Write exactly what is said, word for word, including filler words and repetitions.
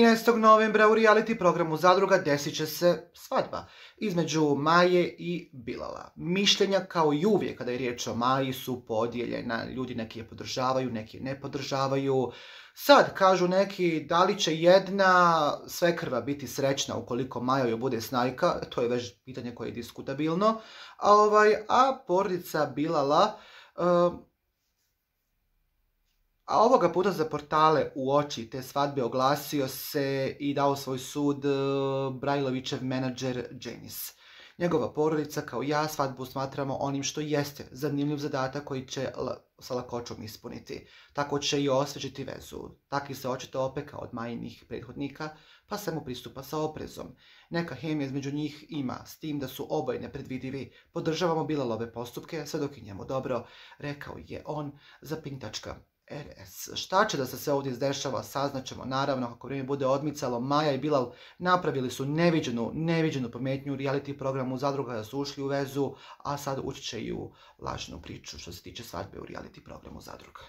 trinaestog novembra u reality programu Zadruga desit će se svadba između Maje i Bilala. Mišljenja kao i uvijek kada je riječ o Maji su podijeljena. Ljudi neki je podržavaju, neki je ne podržavaju. Sad kažu neki da li će jedna svekrva biti srećna ukoliko Maja joj bude snajka, to je već pitanje koje je diskutabilno. A, ovaj, a porodica Bilala... Uh, A ovoga puta za portale u oči te svadbe oglasio se i dao svoj sud Brajlovićev menadžer Dženis. Njegova porodica kao ja svadbu smatramo onim što jeste zanimljiv zadatak koji će sa lakoćom ispuniti. Tako će i osvežiti vezu. Takvi se očito opeka od Majinih prethodnika, pa se mu pristupa sa oprezom. Neka hemija između njih ima, s tim da su oboje nepredvidivi. Podržavamo Bilalove postupke, sve dok je njemu dobro, rekao je on za Pintačka. er es. Šta će da se sve ovdje izdešava, saznaćemo naravno kako vrijeme bude odmicalo. Maja i Bilal napravili su neviđenu, neviđenu pametnju u reality programu Zadruga da su ušli u vezu, a sad ući će i u lažnu priču što se tiče svadbe u reality programu Zadruga.